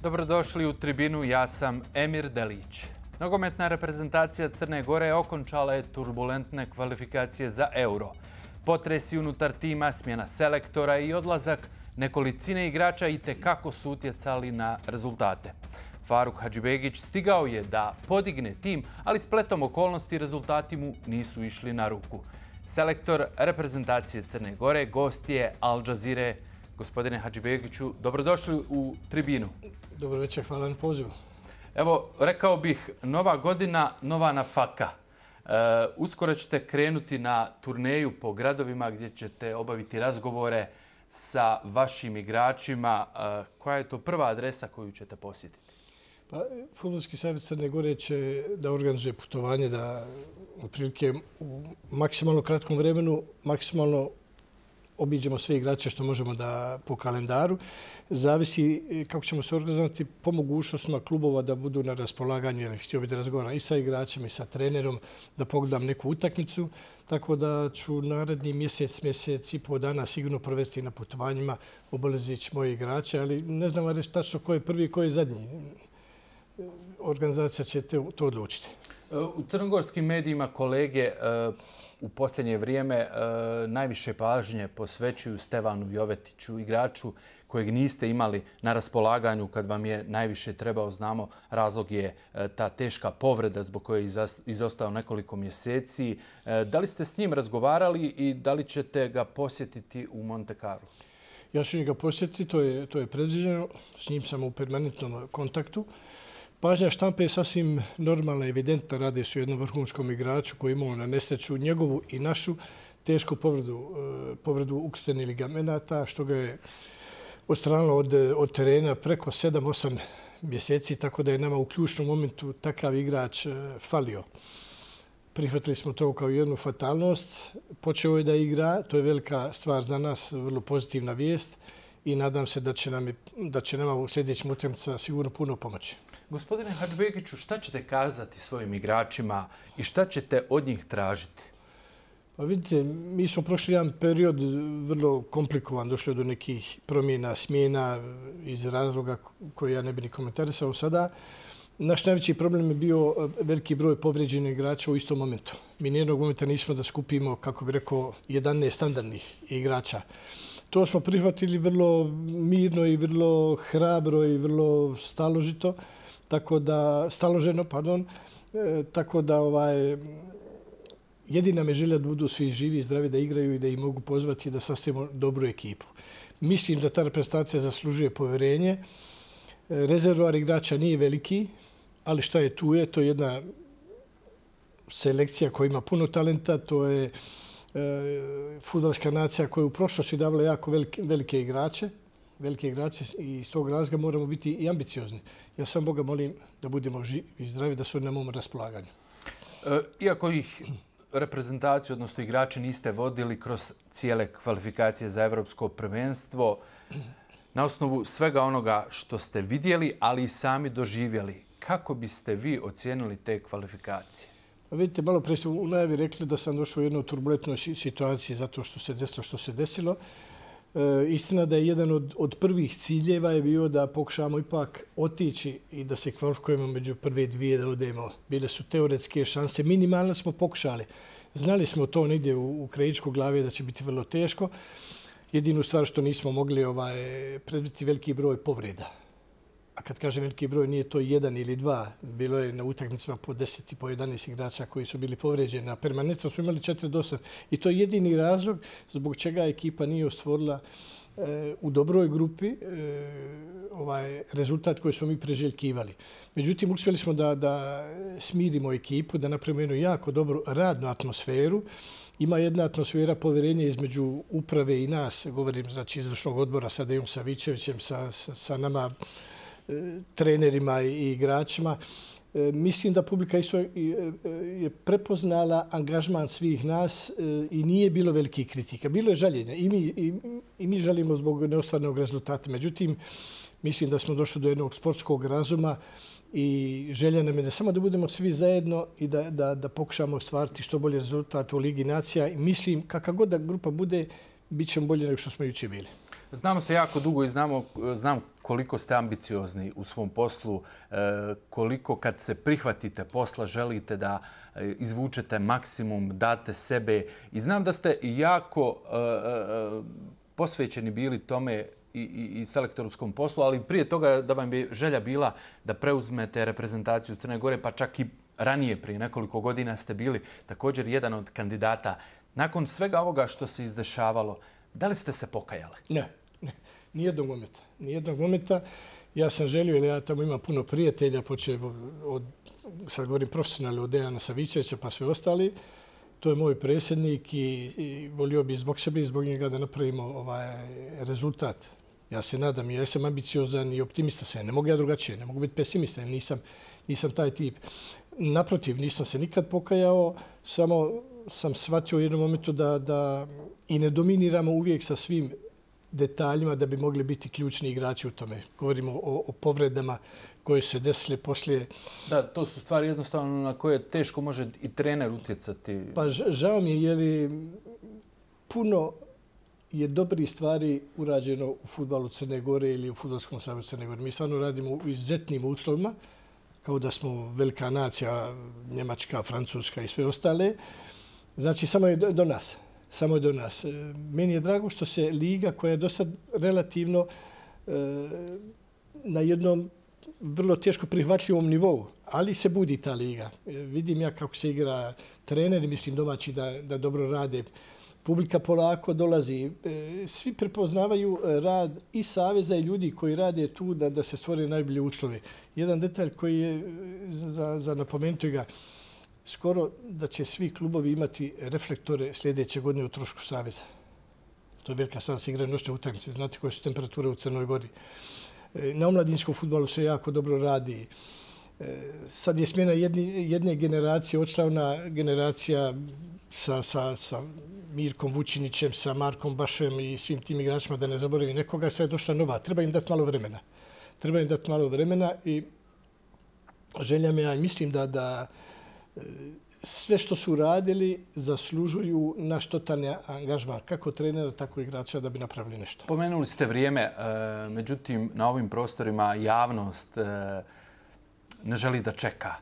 Dobrodošli u tribinu, ja sam Emir Delić. Nogometna reprezentacija Crne Gore okončala je turbulentne kvalifikacije za Euro. Potresi unutar tima, smjena selektora i odlazak nekolicine igrača itekako su utjecali na rezultate. Faruk Hadžibegić stigao je da podigne tim, ali spletom okolnosti rezultati mu nisu išli na ruku. Selektor reprezentacije Crne Gore, gost je Al Jazeere. Gospodine Hadžibegiću, dobrodošli u tribinu. Dobro večer, hvala na pozivu. Evo, rekao bih, nova godina, nova nafaka. Uskoro ćete krenuti na turneju po gradovima gdje ćete obaviti razgovore sa vašim igračima. Koja je to prva adresa koju ćete posjetiti? Pa, Fudbalski savez Crne Gore će da organizuje putovanje da otprilike u maksimalno kratkom vremenu maksimalno obiđemo sve igrače što možemo da po kalendaru. Zavisi kako ćemo se organizovati po mogućnostima klubova da budu na raspolaganju, jer htio bih da razgovaram i sa igračem i sa trenerom, da pogledam neku utakmicu. Tako da ću naredni mjesec i pol dana sigurno provesti na putovanjima, obavezići moje igrače, ali ne znam reći tačno ko je prvi i ko je zadnji. Organizacija će to odlučiti. U crnogorskim medijima kolege u posljednje vrijeme najviše pažnje posvećuju Stevanu Jovetiću, igraču kojeg niste imali na raspolaganju kad vam je najviše trebao. Znamo, razlog je ta teška povreda zbog koje je izostao nekoliko mjeseci. Da li ste s njim razgovarali i da li ćete ga posjetiti u Monte Carlo? Ja ću ga posjetiti, to je predviđeno. S njim sam u permanentnom kontaktu. Pažnja štampe je sasvim normalna i evidentna. Radi se o jednom vrhunskom igraču koji je imao na nesreću njegovu i našu tešku povredu ukrštenih ligamenata, što ga je odstranilo od terena preko 7-8 mjeseci, tako da je nama u ključnom momentu takav igrač falio. Prihvatili smo to kao jednu fatalnost. Počeo je da igra, to je velika stvar za nas, vrlo pozitivna vijest i nadam se da će nama u sljedećim utakmicama sigurno puno pomoći. Gospodine Hadžibegiću, šta ćete kazati svojim igračima i šta ćete od njih tražiti? Pa vidite, mi smo prošli jedan period vrlo komplikovan, došli do nekih promjena, smjena iz razloga koje ja ne bi ni komentarisao sada. Naš najveći problem je bio veliki broj povrijeđenih igrača u istom momentu. Mi nijednog momenta nismo da skupimo, kako bi rekao, 11 standardnih igrača. To smo prihvatili vrlo mirno i vrlo hrabro i vrlo staloženo, tako da jedina me želja da budu svi živi i zdravi, da igraju i da ih mogu pozvati da sastavimo dobru ekipu. Mislim da ta reprezentacija zaslužuje povjerenje. Rezervoar igrača nije veliki, ali šta je tu je? To je jedna selekcija koja ima puno talenta, to je fudbalska nacija koja je u prošlosti davala jako velike igrače i iz tog razloga moramo biti i ambiciozni. Ja sam Boga molim da budemo živi i zdravi, da su na mom raspolaganju. Iako ih reprezentaciju, odnosno igrači, niste vodili kroz cijele kvalifikacije za evropsko prvenstvo, na osnovu svega onoga što ste vidjeli, ali i sami doživjeli, kako biste vi ocijenili te kvalifikacije? Vidite, malo prije ste u najavi rekli da sam došao u jednu turbulentnoj situaciji zato što se desilo što se desilo. Istina da je jedan od prvih ciljeva je bio da pokušamo ipak otići i da se kvalifikujemo među prve dvije da odemo. Bile su teoretske šanse, minimalno smo pokušali. Znali smo to negdje u krajičku glave da će biti vrlo teško. Jedinu stvar što nismo mogli predvidjeti veliki broj povreda. A kad kažem veliki broj, nije to 1 ili 2. Bilo je na utakmicama po 10 i po 11 igrača koji su bili povrijeđeni. Na permanentno smo imali 4 do 8. I to je jedini razlog zbog čega ekipa nije ostvorila u dobroj grupi rezultat koji smo mi preželjkivali. Međutim, uspjeli smo da smirimo ekipu, da napravimo jednu jako dobru radnu atmosferu. Ima jedna atmosfera povjerenja između uprave i nas, govorim znači izvršnog odbora sa Dejom Savićevićem, sa nama trenerima i igračima. Mislim da publika isto je prepoznala angažman svih nas i nije bilo velikih kritika. Bilo je žaljenja i mi žalimo zbog neostvarenog rezultata. Međutim, mislim da smo došli do jednog sportskog razuma i želja nam je da samo da budemo svi zajedno i da pokušamo ostvariti što bolji rezultat u Ligi nacija. I mislim, kakva god da grupa bude, bit ćemo bolje nego što smo jučer bili. Znamo se jako dugo i znam koliko ste ambiciozni u svom poslu, koliko kad se prihvatite posla želite da izvučete maksimum, date sebe. I znam da ste jako posvećeni bili tome i selektorskom poslu, ali prije toga da vam je želja bila da preuzmete reprezentaciju Crne Gore, pa čak i ranije, prije nekoliko godina ste bili također jedan od kandidata. Nakon svega ovoga što se izdešavalo, da li ste se pokajali? Ne. Nijednog momenta. Ja sam želio, jer ja tamo imam puno prijatelja, počeo od, sad govorim profesionalno, od Dejana Savićevića pa sve ostali. To je moj predsjednik i volio bi zbog sebe i zbog njega da napravimo rezultat. Ja se nadam, ja sam ambiciozan i optimista sam. Ne mogu ja drugačije, ne mogu biti pesimista, jer nisam taj tip. Naprotiv, nisam se nikad pokajao, samo sam shvatio u jednom momentu da i ne dominiramo uvijek sa svim detaljima da bi mogli biti ključni igrači u tome. Govorimo o povredama koje su se desile poslije. Da, to su stvari jednostavno na koje teško može i trener utjecati. Pa žao mi je jer puno je dobrih stvari urađeno u fudbalu Crne Gore ili u Fudbalskom savezu Crne Gore. Mi stvarno radimo u izuzetnim uslovima, kao da smo velika nacija, Njemačka, Francuska i sve ostale. Znači, samo je do nas. Meni je drago što se liga koja je do sad relativno na jednom vrlo teško prihvatljivom nivou, ali se budi ta liga. Vidim ja kako se igra treneri, mislim domaći da dobro rade. Publika polako dolazi. Svi prepoznavaju rad i saveza i ljudi koji rade tu da se stvore najbolje uslove. Jedan detalj koji je za napomenuti ga, skoro da će svi klubovi imati reflektore sljedeće godine u trošku saveza. To je velika stvar, se igraju noćne utakmice. Znate koje su temperature u Crnoj Gori. Na omladinskom fudbalu se jako dobro radi. Sad je smjena jedne generacije, očlavna generacija sa Mirkom Vučinićem, sa Markom Bašem i svim tim igračima, da ne zaboravim nekoga, sad je došla nova. Treba im dati malo vremena i želja me, ja mislim da sve što su radili zaslužuju naš totalni angažman, kako trenera, tako i igrača, da bi napravili nešto. Pomenuli ste vrijeme, međutim, na ovim prostorima javnost ne želi da čeka.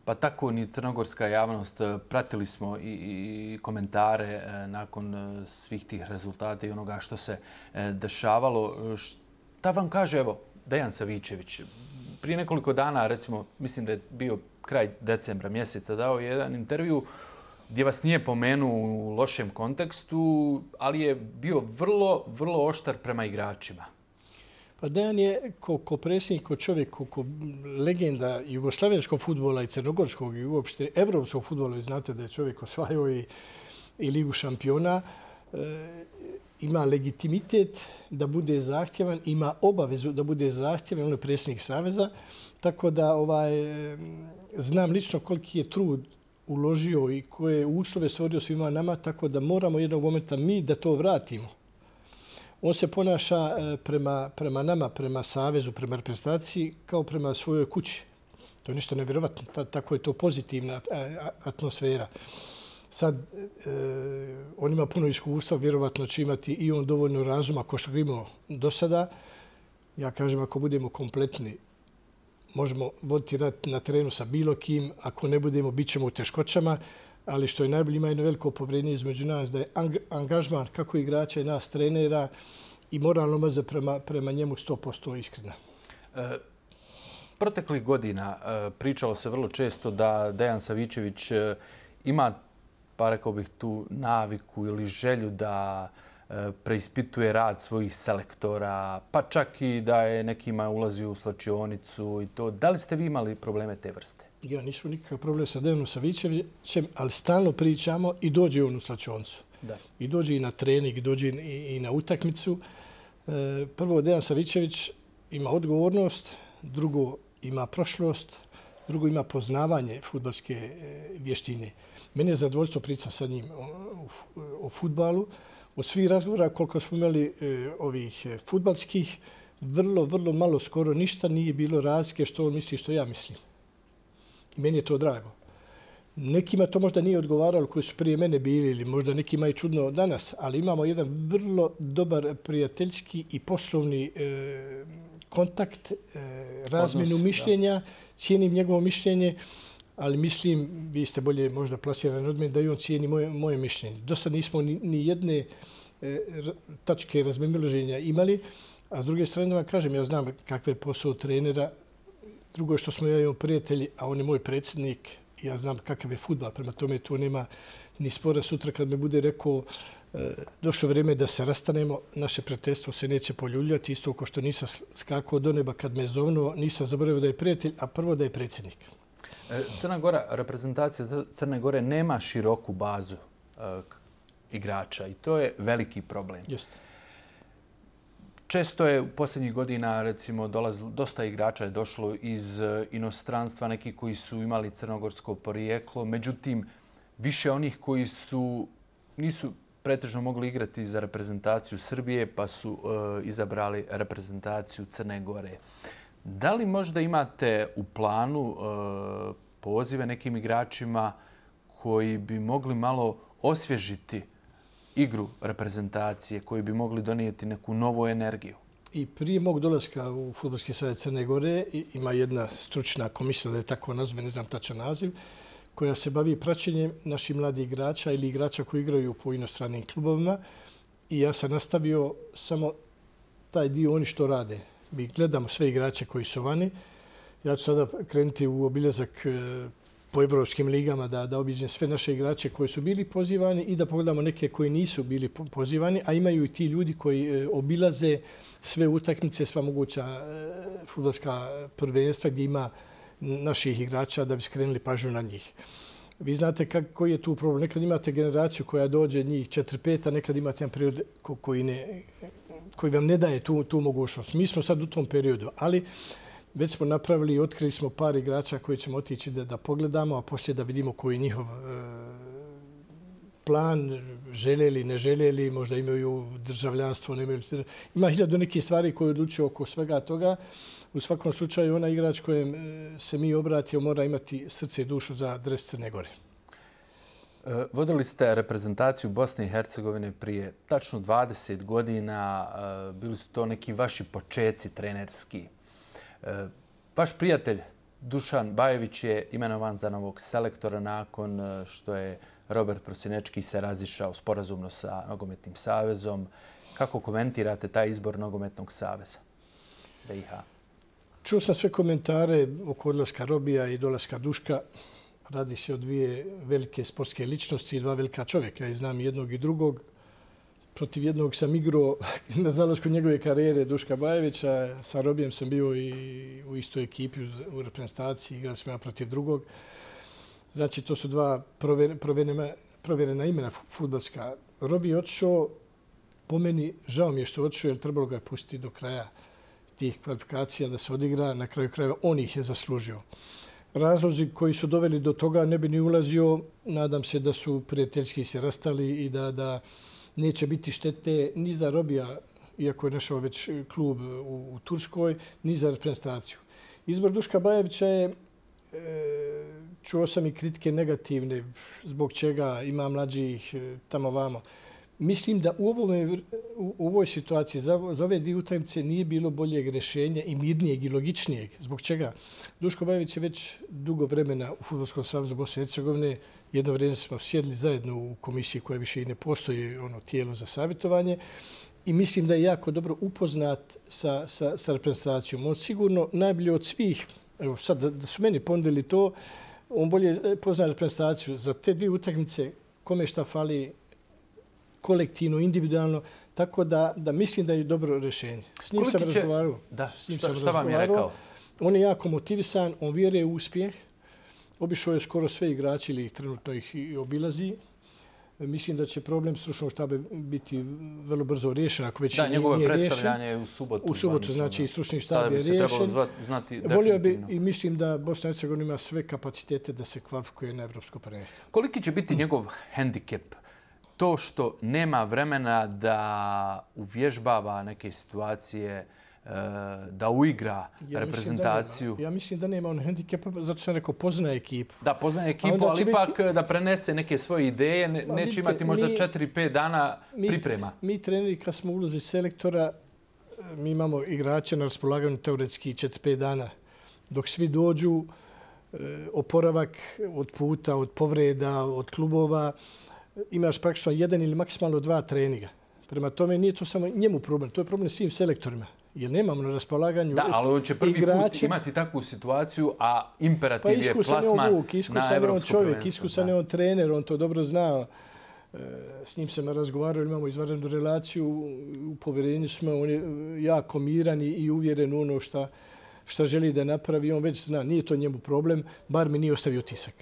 Pa tako ni crnogorska javnost. Pratili smo i komentare nakon svih tih rezultata i onoga što se dešavalo. Šta vam kaže, evo, Dejan Savićević? Prije nekoliko dana, recimo, mislim da je bio kraj decembra mjeseca, dao jedan intervju gdje vas nije pomenuo u lošem kontekstu, ali je bio vrlo, vrlo oštar prema igračima. Pa Dejan je ko predsjednik, ko čovjek, ko legenda jugoslavenskog fudbala i crnogorskog i uopšte evropskog fudbala. Vi znate da je čovjek osvajao i Ligu šampiona. Ima legitimitet da bude zahtjevan, ima obavezu da bude zahtjevan, on je predsjednik saveza. Tako da znam lično koliki je trud uložio i koje uslove stvorio svima nama, tako da moramo jednog momenta mi da to vratimo. On se ponaša prema nama, prema savezu, prema reprezentaciji, kao prema svojoj kući. To je nešto nevjerovatno. Tako je to pozitivna atmosfera. Sad, on ima puno iskustva, vjerovatno će imati i on dovoljno razuma ko što ga imao do sada. Ja kažem, ako budemo kompletni, možemo voditi rad na terenu sa bilo kim. Ako ne budemo, bit ćemo u teškoćama. Ali što je najbolje, ima jedno veliko povjerenje između nas, da je angažman kako igrača i nas trenera i moralno maza prema njemu 100% iskrena. Proteklih godina pričalo se vrlo često da Dejan Savićević ima, pa rekao bih tu, naviku ili želju da preispituje rad svojih selektora, pa čak i da je nekima ulazio u slačionicu i to. Da li ste vi imali probleme te vrste? Ja nisam nikakav problem sa Dejanom Savićevićem, ali stalno pričamo i dođe on u slačionicu. I dođe i na trening, i dođe i na utakmicu. Prvo, Dejan Savićević ima odgovornost, drugo ima prošlost, drugo ima poznavanje fudbalske vještine. Meni je zadovoljstvo pričati sa njim o fudbalu. Od svih razgovora koliko smo imali ovih fudbalskih, vrlo malo, skoro ništa nije bilo razlike što on misli, što ja mislim. I meni je to drago. Nekima to možda nije odgovaralo koji su prije mene bili ili možda nekima je čudno danas, ali imamo jedan vrlo dobar prijateljski i poslovni kontakt, razmjenu mišljenja, cijenim njegovo mišljenje, ali mislim, vi ste bolje možda plasirani od mene, da i on cijeni moje mišljenje. Do sad nismo ni jedne tačke razmimoilaženja imali, a s druge strane vam kažem, ja znam kakve je posao trenera, drugo je što smo ja imamo prijatelji, a on je moj predsjednik, ja znam kakav je fudbal, prema tome tu nema ni spora. Sutra kad me bude rekao došlo vrijeme da se rastanemo, naše prijateljstvo se neće poljuljati, isto kao što nisam skakao do neba kad me zovnuo, nisam zaboravio da je prijatelj, a prvo da je predsjednik. Crna Gora, reprezentacija Crne Gore nema široku bazu igrača i to je veliki problem. Jeste. Često je u posljednjih godina, recimo, dosta igrača je došlo iz inostranstva, neki koji su imali crnogorsko porijeklo. Međutim, više onih koji nisu pretežno mogli igrati za reprezentaciju Srbije, pa su izabrali reprezentaciju Crne Gore. Da li možda imate u planu pozive nekim igračima koji bi mogli malo osvježiti igru reprezentacije, koji bi mogli donijeti neku novu energiju? I prije mog dolaska u Fudbalski savez Crne Gore ima jedna stručna komisija, da je tako nazove, ne znam tačan naziv, koja se bavi praćenjem naših mladih igrača ili igrača koji igraju po inostranim klubovima. I ja sam nastavio samo taj dio oni što rade. Mi gledamo sve igrače koji su vani. Ja ću sada krenuti u obilazak po evropskim ligama da obiđem sve naše igrače koji su bili pozivani i da pogledamo neke koji nisu bili pozivani, a imaju i ti ljudi koji obilaze sve utakmice, sva moguća fudbalska prvenstva gdje ima naših igrača da bi skrenuli pažnju na njih. Vi znate koji je tu problem. Nekad imate generaciju koja dođe njih 4-5, a nekad imate jedan period koji vam ne daje tu mogućnost. Mi smo sad u tom periodu, ali već smo napravili i otkrili smo par igrača koji ćemo otići da pogledamo, a poslije da vidimo koji je njihov plan, željeli, ne željeli, možda imaju državljanstvo, ne imaju. Ima 1000 nekih stvari koje odlučuju oko svega toga. U svakom slučaju, onaj igrač kojem se mi obratio mora imati srce i dušu za dres Crne Gore. Vodili ste reprezentaciju Bosne i Hercegovine prije tačno 20 godina. Bili su to neki vaši počeci trenerski. Vaš prijatelj Dušan Bajević je imenovan za novog selektora nakon što je Robert Prosinečki se razišao sporazumno sa Nogometnim savezom. Kako komentirate taj izbor Nogometnog saveza BiH? Čuo sam sve komentare oko odlaska Robija i dolaska Duška. Radi se o dvije velike sportske ličnosti i dva velika čovjeka. Ja znam jednog i drugog. Protiv jednog sam igrao na zalasku njegove karijere Duška Bajevića. Sa Robijem sam bio i u istoj ekipi u reprezentaciji. Igrali smo ja protiv drugog. Znači, to su dva provjerena imena fudbalska. Robi je otišao, po meni, žao mi je što je otišao, jer trebalo ga je pustiti do kraja tih kvalifikacija da se odigra. Na kraju krajeva on ih je zaslužio. Razlozi koji su doveli do toga ne bi ni ulazio. Nadam se da su prijateljski se rastali i da neće biti štete ni za Robija, iako je našao već klub u Turskoj, ni za reprezentaciju. Izbor Duška Bajevića je, čuo sam i kritike negativne, zbog čega ima mlađih tamo vamo. Mislim da u ovoj situaciji za ove dvije utakmice nije bilo boljeg rješenja i mirnijeg i logičnijeg. Zbog čega? Duško Bajević je već dugo vremena u Fudbalskom savezu Bosne i Hercegovine. Jedno vrijeme smo sjedli zajedno u komisiji koja više i ne postoji, tijelo za savjetovanje. I mislim da je jako dobro upoznat sa reprezentacijom. On sigurno najbolje od svih, evo sad da su meni ponudili to, on bolje pozna reprezentaciju za te dvije utakmice, kome šta fali, kolektivno, individualno, tako da mislim da je dobro rješenje. S njim sam razgovarao. Šta vam je rekao? On je jako motivisan, on vjeruje u uspjeh. Obišao je skoro sve igrači ili trenutno ih i obilazi. Mislim da će problem stručnog štaba biti vrlo brzo riješen, ako već nije riješen. Da, njegovo predstavljanje je u subotu. U subotu, znači i stručni štab je riješen. Volio bi i mislim da Bosna i Hercegovina ima sve kapacitete da se kvalifikuje na evropsko prvenstvo. Koliki će biti njegov hendikep? To što nema vremena da uvježbava neke situacije da uigra reprezentaciju? Ja mislim da nema on hendikepa, zato sam rekao poznaje ekipu. Da, poznaje ekipu, ali ipak da prenese neke svoje ideje, neće imati možda 4-5 dana priprema. Mi treneri, kad smo u ulozi selektora, mi imamo igrače na raspolaganju teoretski 4-5 dana. Dok svi dođu, oporavak od puta, od povreda, od klubova, imaš praktično 1 ili maksimalno 2 treninga. Prema tome nije to samo njemu problem, to je problem svim selektorima. Jer nemamo na raspolaganju igrače. Da, ali on će prvi put imati takvu situaciju, a imperativ je plasman na evropsko prvenstvo. Iskusan je on trener, on to dobro zna. S njim sam razgovarao, imamo izvanrednu relaciju, u povjerenju smo, on je jako miran i uvjeren u ono šta želi da napravi. On već zna, nije to njemu problem, bar mi nije ostavio tisak.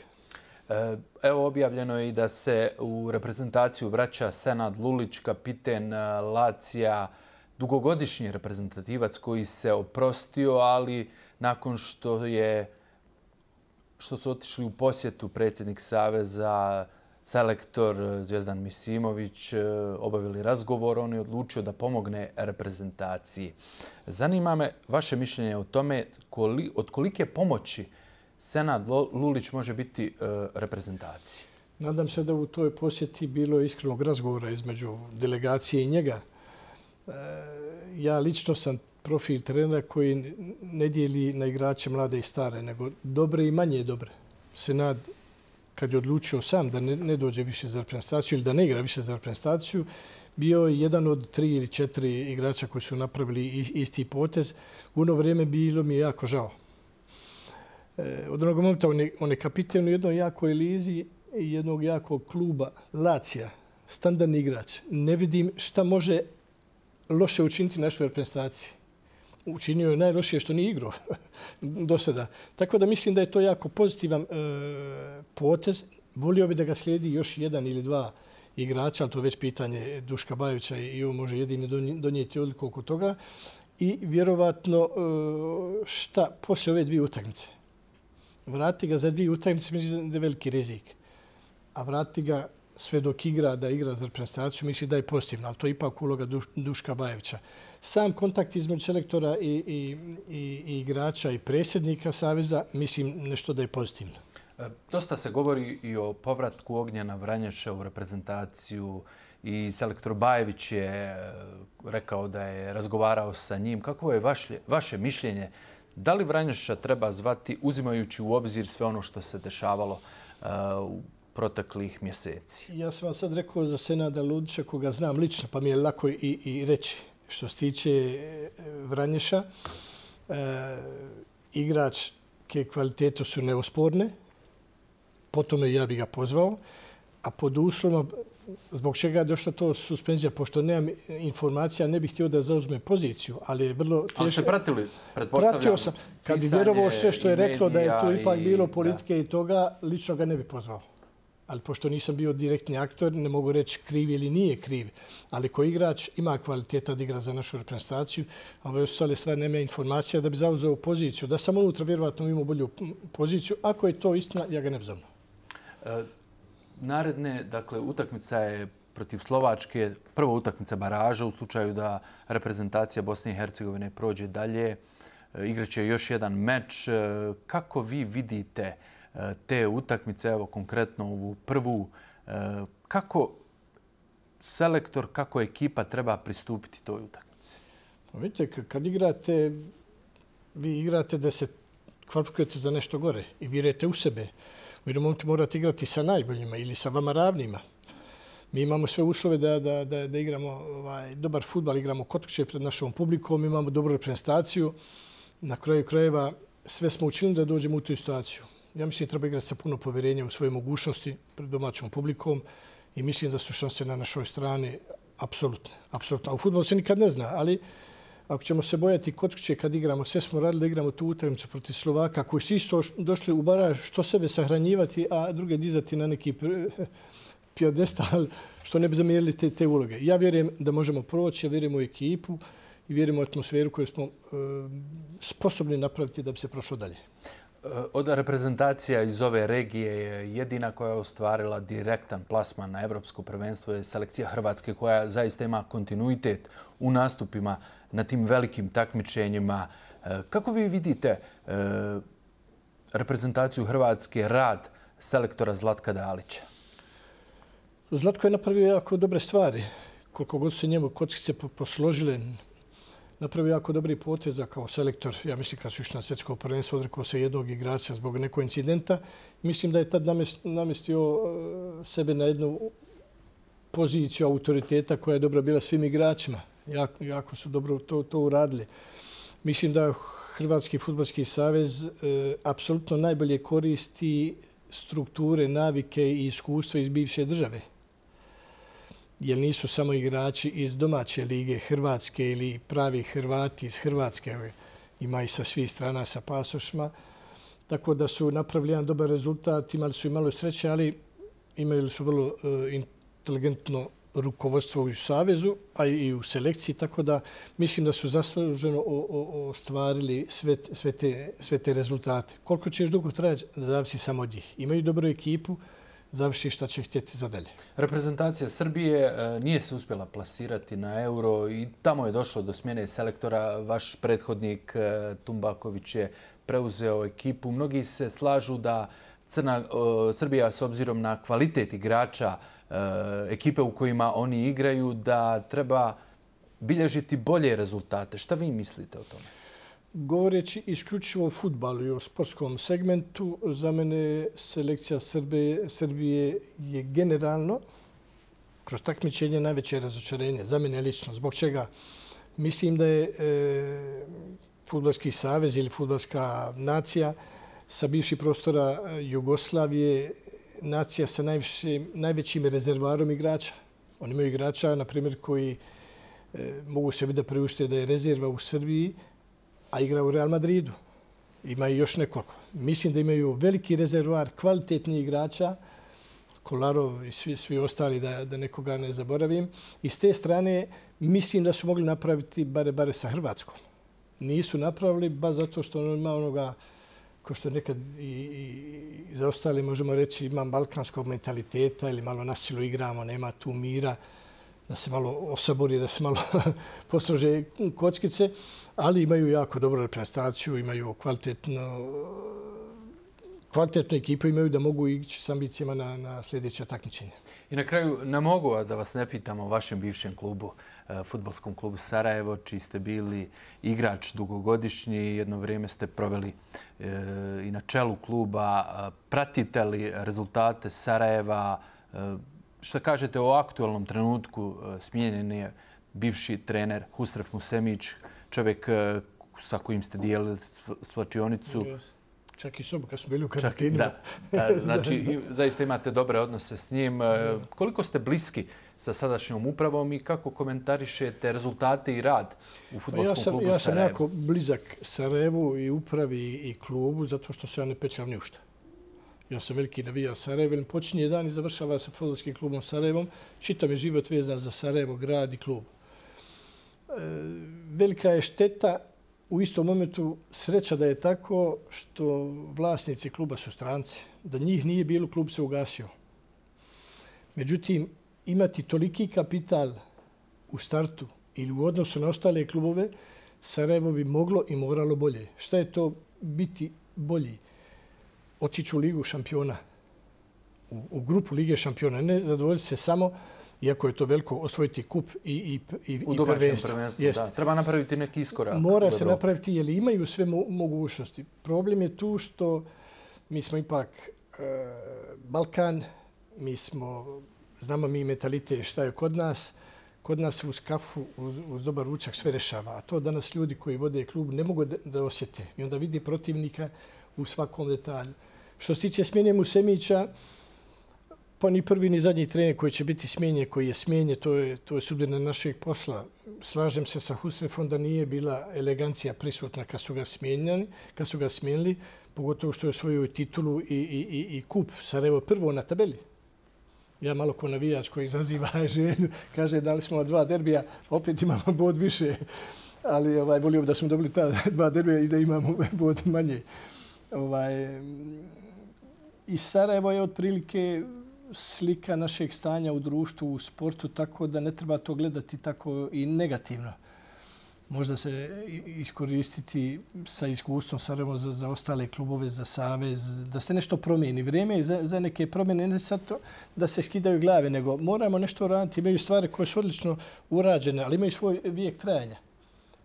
Evo, objavljeno je i da se u reprezentaciju vraća Senad Lulić, kapiten Lazija, dugogodišnji reprezentativac koji se oprostio, ali nakon što su otišli u posjetu predsjednik Saveza, selektor Zvjezdan Misimović, obavili razgovor, on je odlučio da pomogne reprezentaciji. Zanima me vaše mišljenje o tome od kolike pomoći Senad Lulić može biti reprezentaciji. Nadam se da u toj posjeti bilo iskrenog razgovora između delegacije i njega. Ja lično sam profil trenera koji ne dijeli na igrače mlade i stare, nego dobre i manje dobre. Senad, kad je odlučio sam da ne dođe više za reprezentaciju ili da ne igra više za reprezentaciju, bio je jedan od 3 ili 4 igrača koji su napravili isti potez. U ono vrijeme bilo mi je jako žao. Od onog momenta on je kapiten u jednoj jakoj lizi i jednog jakog kluba Lazija, standardni igrač. Ne vidim šta može loše učiniti našoj reprezentaciji. Učinio je najlošije što nije igrao do sada. Tako da mislim da je to jako pozitivan potez. Volio bi da ga slijedi još 1 ili 2 igrača, ali to je već pitanje Duška Bajovića i on može jedini donijeti odluku oko toga. I vjerovatno šta poslije ove 2 utakmice. Vrati ga za 2 utakmice, mislim da je veliki rizik. A vrati ga sve dok igra, da igra za reprezentaciju, misli da je pozitivno, ali to je ipak uloga Duška Bajevića. Sam kontakt između selektora i igrača i predsjednika Saveza, mislim nešto da je pozitivno. Dosta se govori i o povratku Ognjena Vranješa u reprezentaciju i selektor Bajević je rekao da je razgovarao sa njim. Kako je vaše mišljenje? Da li Vranješa treba zvati uzimajući u obzir sve ono što se dešavalo u proteklih mjeseci? Ja sam vam sad rekao za Senada Lulića, koga znam lično, pa mi je lako i reći. Što se tiče Vranješa, igračke kvalitete su neosporne, potom ja bih ga pozvao, a pod uslovima zbog čega je došla to suspenzija, pošto nemam informacija, ne bih htio da zauzme poziciju, ali je vrlo teško. Ali ste pratili, pretpostavljam, pratio sam. Kad bi vjerovao sve što je reklo da je to ipak bilo politike i toga, lično ga ne bi pozvao. Ali pošto nisam bio direktni aktor, ne mogu reći kriv ili nije kriv. Ali ko igrač ima kvaliteta da igra za našu reprezentaciju, a ove ostale stvari nema informacija da bi zauzeo poziciju. Da sam unutra vjerovatno imao bolju poziciju. Ako je to istina, ja ga ne bi zavno. Naredne, dakle, utakmica je protiv Slovačke, prva utakmica baraža u slučaju da reprezentacija Bosne i Hercegovine prođe dalje. Igraće još jedan meč. Kako vi vidite te utakmice, evo konkretno ovu prvu, kako selektor, kako ekipa treba pristupiti toj utakmici? Vidite, kad igrate, vi igrate da se kvalifikujete za nešto gore i vjerujete u sebe. U jednom momentu morate igrati sa najboljima ili sa vama ravnima. Mi imamo sve uslove da igramo dobar fudbal, igramo kod kuće pred našom publikom, imamo dobru reprezentaciju. Na kraju krajeva sve smo učinili da dođemo u tu situaciju. Ja mislim da treba igrati sa puno povjerenja u svoje mogućnosti pred domaćom publikom i mislim da su šanse na našoj strani apsolutne. A u fudbalu se nikad ne zna, ali ako ćemo se bojati kod kuće kad igramo, sve smo radili da igramo tu utakmicu protiv Slovaka koji su isto došli u baraž što sebe sahranjivati, a druge dizati na neki pijedestal što ne bi zamijenili te uloge. Ja vjerujem da možemo proći, ja vjerujem u ekipu i vjerujem u atmosferu koju smo sposobni napraviti da bi se prošlo dalje. Od reprezentacija iz ove regije je jedina koja je ostvarila direktan plasman na evropsko prvenstvo je selekcija Hrvatske koja zaista ima kontinuitet u nastupima na tim velikim takmičenjima. Kako vi vidite reprezentaciju Hrvatske, rad selektora Zlatka Dalića? Zlatko je napravio jako dobre stvari. Koliko god se njemu kockice posložile, napravio jako dobri poteza kao selektor. Ja mislim kad su išli na svjetsko prvenstvo, odrekao se jednog igrača zbog nekog incidenta. Mislim da je tad namestio sebe na jednu poziciju autoriteta koja je dobra bila svim igračima. Jako su dobro to uradili. Mislim da Hrvatski fudbalski savez apsolutno najbolje koristi strukture, navike i iskustva iz bivše države. Jer nisu samo igrači iz domaće lige Hrvatske ili pravi Hrvati iz Hrvatske. Ima i sa svih strana sa pasošima. Tako da su napravili jedan dobar rezultat. Imali su i malo sreće, ali imali su vrlo inteligentno rukovodstvo u Savezu, a i u selekciji. Tako da mislim da su zasluženo ostvarili sve te rezultate. Koliko će još dugo trajati, zavisi samo od njih. Imaju dobru ekipu, završi šta će htjeti za dalje. Reprezentacija Srbije nije se uspjela plasirati na Euro i tamo je došlo do smjene selektora. Vaš prethodnik Tumbaković je preuzeo ekipu. Mnogi se slažu da Srbija s obzirom na kvalitet igrača, ekipe u kojima oni igraju, da treba bilježiti bolje rezultate. Šta vi mislite o tome? Govoreći isključivo o fudbalu i o sportskom segmentu, za mene selekcija Srbije je generalno kroz takmičenje najveće razočarenje. Za mene lično. Zbog čega? Mislim da je Fudbalski savez ili fudbalska nacija sa bivših prostora Jugoslavije nacija sa najvećim rezervarom igrača. Oni imaju igrača, na primjer, koji mogu sebi da priušte da je rezerva u Srbiji, a igra u Real Madridu. Ima i još nekoliko. Mislim da imaju veliki rezervoar kvalitetnih igrača, Kolarov i svi ostali, da nekoga ne zaboravim. I s te strane mislim da su mogli napraviti bare sa Hrvatskom. Nisu napravili, ba zato što on ima onoga, ko što nekad i za ostali možemo reći, ima balkanskog mentaliteta ili malo na silu igramo, nema tu mira, da se malo osabori, da se malo poslože kockice, ali imaju jako dobru reprezentaciju, imaju kvalitetnu ekipu, imaju da mogu ići s ambicijama na sljedeće takmičenje. I na kraju ne mogu da vas ne pitam o vašem bivšem klubu, fudbalskom klubu Sarajevo, čiji ste bili igrač dugogodišnji, jedno vrijeme ste proveli i na čelu kluba. Pratite li rezultate Sarajeva? Šta kažete o aktualnom trenutku? Smijenjen je bivši trener Husref Musemić, čovjek sa kojim ste dijelili svlačionicu. Čak i sobu kad smo bili u karantini. Znači, zaista imate dobre odnose s njim. Koliko ste bliski sa sadašnjom upravom i kako komentarišete rezultate i rad u fudbalskom klubu Sarajevo? Ja sam jako blizak Sarajevu i upravi i klubu zato što se ja ne petljam ništa. Ja sam veliki navija Sarajevo. Počinje dan i završava sa fudbalskim klubom Sarajevom. Čitav je život vezan za Sarajevo, grad i klub. Velika je šteta, u istom momentu sreća da je tako što vlasnici kluba su stranci. Da njih nije bilo, klub se ugasio. Međutim, imati toliki kapital u startu ili u odnosu na ostale klubove, Sarajevo bi moglo i moralo bolje. Šta je to biti bolji? Otići u Ligu šampiona, u grupu Lige šampiona. Ne zadovoljiti se samo, iako je to veliko, osvojiti kup i u domaćem prvenstvu. Da. Treba napraviti neki iskorak. Mora se napraviti jer imaju sve mogućnosti. Problem je tu što mi smo ipak Balkan, znamo mi mentalitet šta je kod nas. Kod nas uz kafu, uz dobar ručak sve rešava. A to danas ljudi koji vode klub ne mogu da osjete. I onda vidi protivnika u svakom detalju. Što se tiče smjene Musemića, pa ni prvi ni zadnji trener koji će biti smijenjen, koji je smijenjen, to je sudbina našeg posla. Slažem se sa Husrefom da nije bila elegancija prisutna kad su ga smijenili, pogotovo što je osvojio titulu i kup Sarajevo prvo na tabeli. Ja malo ko navijač koji izaziva želju, kaže dali smo 2 derbija, opet imamo bod više, ali volio da smo dobili ta 2 derbija i da imamo bod manje. I Sarajevo je otprilike slika našeg stanja u društvu, u sportu, tako da ne treba to gledati tako i negativno. Možda se iskoristiti sa iskustvom Sarajevo za ostale klubove, za savez, da se nešto promijeni. Vrijeme je za neke promjene, ne sad to da se skidaju glave, nego moramo nešto raditi. Imaju stvari koje su odlično urađene, ali imaju svoj vijek trajanja.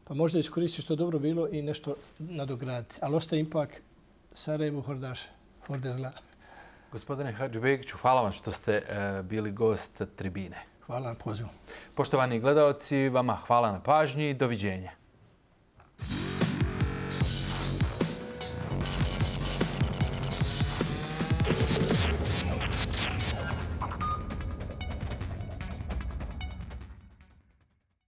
Pa možda iskoristiti što je dobro bilo i nešto nadograditi. Ali ostaje ipak Sarajevo Hordaš, Horde zla. Gospodine Hadžibegiću, hvala vam što ste bili gost tribine. Hvala na pozivu. Poštovani gledaoci, vama hvala na pažnji i doviđenja.